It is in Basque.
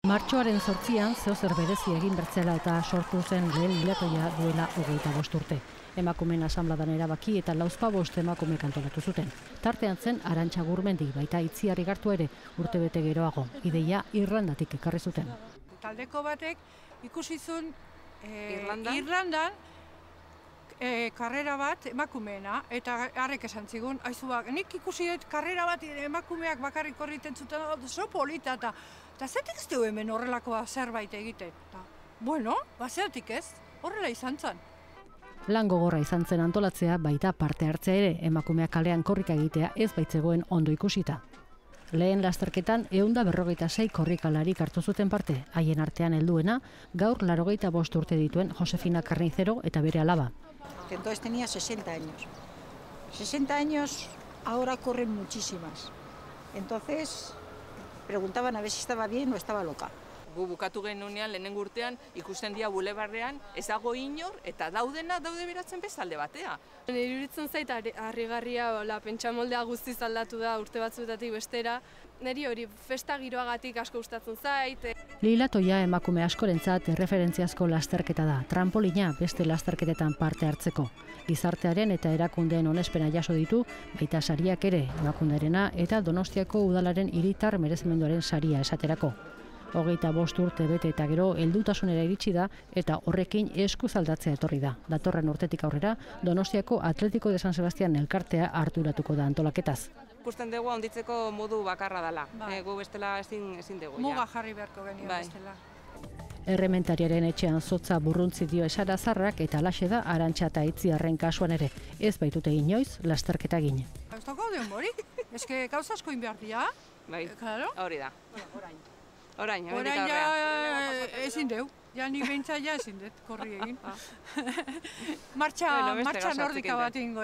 Martxoaren 8an zeozer berezi egin bertzela eta sortu zen lehen hilatoia duela 25 urte. Emakumeen asanbladan erabaki eta 45 emakumek antolatu zuten. Tartean zen Arantxa Gurmendi, baita Itziar Igartu ere urtebete geroago. Ideia Irlandatik ekarri zuten. Taldeko batek ikusi zuen Irlandan karrera bat emakumeena, eta harrek esan zigun, aizuak, nik ikusi dut karrera bat emakumeak bakarrik korriten zuten, oso polita, eta zetik ez du hemen horrelakoa zerbait egiten. Bueno, zeratik ez, horrela izan zen. Lan gogorra izan zen antolatzea, baita parte hartzea ere, emakumeak kalean korrika egitea ez baitzegoen ondo ikusita. Lehen lasterketan 156 korrikalarik hartu zuten parte, haien artean helduena, gaur 85 urte dituen Josefina Carnicero eta bere alaba. Entonces tenía 60 años. 60 años, ahora corren muchísimas. Entonces preguntaban a ver si estaba bien o estaba loca. Gu bukatu genunean lehenengo urtean ikusten dira bulebarrean ez dago inor eta daude beratzen bezalde batea. Iruditzen zait harrigarria pentsamoldea guztiz aldatu da urte batzuetatik bestera. Neri hori festa giroagatik asko gustatzen zait. Lilatoia emakume askorentzat erreferentziazko lasterketa da, trampolina beste lasterketetan parte hartzeko. Gizartearen eta erakundeen onespena jaso ditu, baita sariak ere, emakundearena eta Donostiako udalaren hiritar merezimenduaren saria esaterako. 25 urte bete eta gero heldutasunera iritsi da eta horrekin eskuz aldatzea etorri da. Datorren urtetik aurrera Donostiako Atletico de San Sebastián elkartea harturatuko da antolaketaz. Ikusten dugu handitzeko modu bakarra dela. Gu bestela ezin dugu. Muga jarri beharko genio bestela. Errementariaren etxean zotza burruntzi dio esarazarrak eta alaxe da Arantxa eta Itziarren kasuan ere. Ez baitute inoiz lasterketa egin. Ez dago denborik, eske gauza asko behar dira. Bai, hori da. Orain ezin deu. Ja nik behintzat ja ezin dut korri egin. Martxa nordika bat egingo.